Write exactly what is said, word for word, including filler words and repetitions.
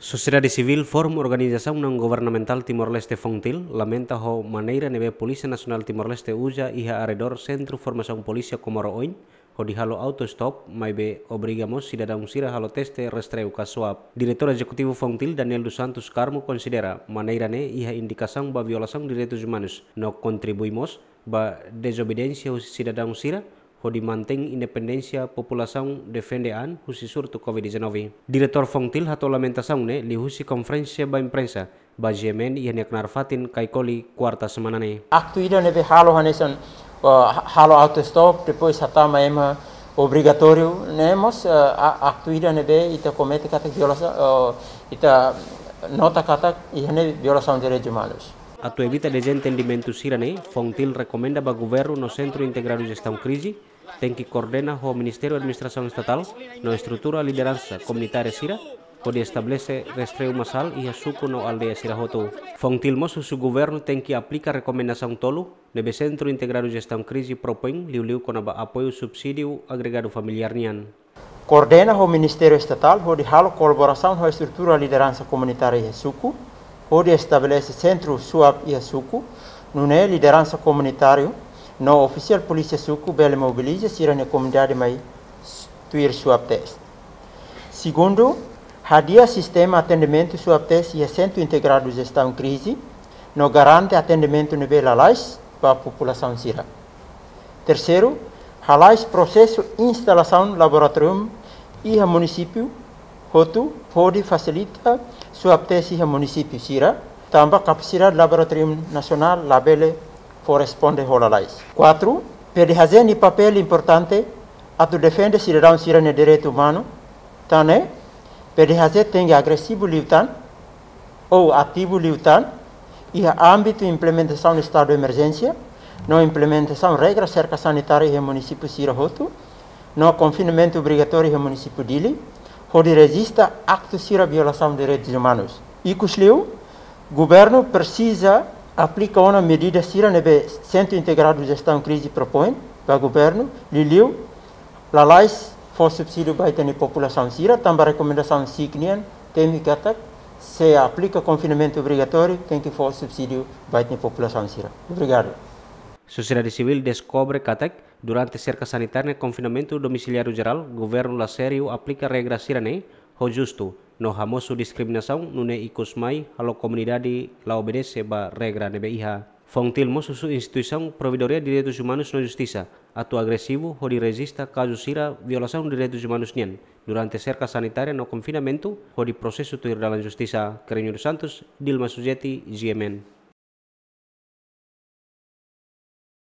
Sosiedade Sivíl, Fórum Organizasaun Naun Governamentál Timor-Leste, FONGTIL, lamenta ho maneira ne'ebé Polísia Nasionál Timor-Leste uza iha arredór Sentru Formasaun Polísia Comoro oin, hodi halo auto-stop, maibé obriga mós sidadaun sira halo teste rastreiu ka swab. Diretór Ezekutivu FONGTIL, Daniel dos Santos Carmo, konsidera maneira ne'e iha indikasaun ba violasaun direitus umanus, no kontribui mós ba dezobediénsia husi sidadaun sira, hodi mantein independénsia populasaun defende an husi surtu covid dezanove. Diretór FONGTIL hato'o lamentasaun ne'e liuhusi konferénsia ba imprensa ba G M N iha nia knaar fatin Caicoli, kuarta semana ne'e. Aktu ida ne'ebé halo hanesan, uh, halo auto-stop, depois hatama ema obrigatóriu, ne'e mós, uh, a-, aktu ida ne'ebé ita komete katak violasaun, uh, ita nota katak iha ne'e violasaun direitus umanus. Atu evita dezentendimentu sira-ne'e, FONGTIL rekomenda ba governu no Sentru Integradu Jestaun Krize tenke koordena ho Ministériu Administrasaun Estatál no estrutura lideransa komunitária sira, hodi estabelese rastreiu masál iha suku no aldeia sira hotu. FONGTIL mós husu governu tenke aplika rekomendasaun tolu ne'ebé Sentru Integradu Jestaun Krize propoin, liuliu kona-ba apoiu subsídiu agregadu familiár nian. Koordena ho Ministériu Estatál hodi halo kolaborasaun ho estrutura lideransa komunitária iha suku, hodi estabelese sentru swab iha suku, nune'e lideransa komunitáriu no ofisiál polísia suku bele mobiliza sira-nia komunidade mai s-, tuir swab test. Segundu, hadi'a sistema atendimentu swab test iha Sentru Integradu Jestaun Krize, no garante atendimentu ne'ebé lalais ba populasaun sira. Terseiru, halais prosesu instalasaun laboratóriu iha munisípiu hotu, hodi fasilita swab test iha munisípiu sira, tanba kapasidade laboratóriu nasionál labele fó responde ho lalais. Kuatru, P D H J nia papél importante atu defende sidadaun sira-nia direitu umanu, tan ne'e, P D H J tenke agresivu liután, ou ativu liután, iha ámbitu implementasaun estadu de emerjénsia, no implementasaun regra serka sanitária iha munisípiu sira hotu, no konfinamentu obrigatóriu iha munisípiu Dili, hodi rejista aktu sira violasaun direitus umanus. Ikusliu, governu presiza aplika ona medida sira ne'ebé Sentru Integradu Jestaun Krize propoin ba governu, liuliu, lalais fó subsídiu ba ita-nia populasaun sira, tanba rekomendasaun SIK nian temi katak, se aplika konfinamentu obrigatóriu, tenke fó subsídiu ba ita-nia populasaun sira. Obrigadu. Sosiedade Sivíl deskobre katak, durante serka sanitária no konfinamentu domisiliáriu jerál, governu la sériu aplika regra sira-ne'e ho justu, no hamosu diskriminasaun, nune'e ikus mai halo komunidade la obedese ba regra ne'ebé iha. FONGTIL mós husu instituisaun Provedoria Direitus Umanus no Justisa atu agresivu hodi rejista kazu sira violasaun direitus umanus nian durante serka sanitária no konfinamentu, hodi prosesu tuir dalan justisa. Kerenyo dos Santos, Dilma Sujeti, G M N.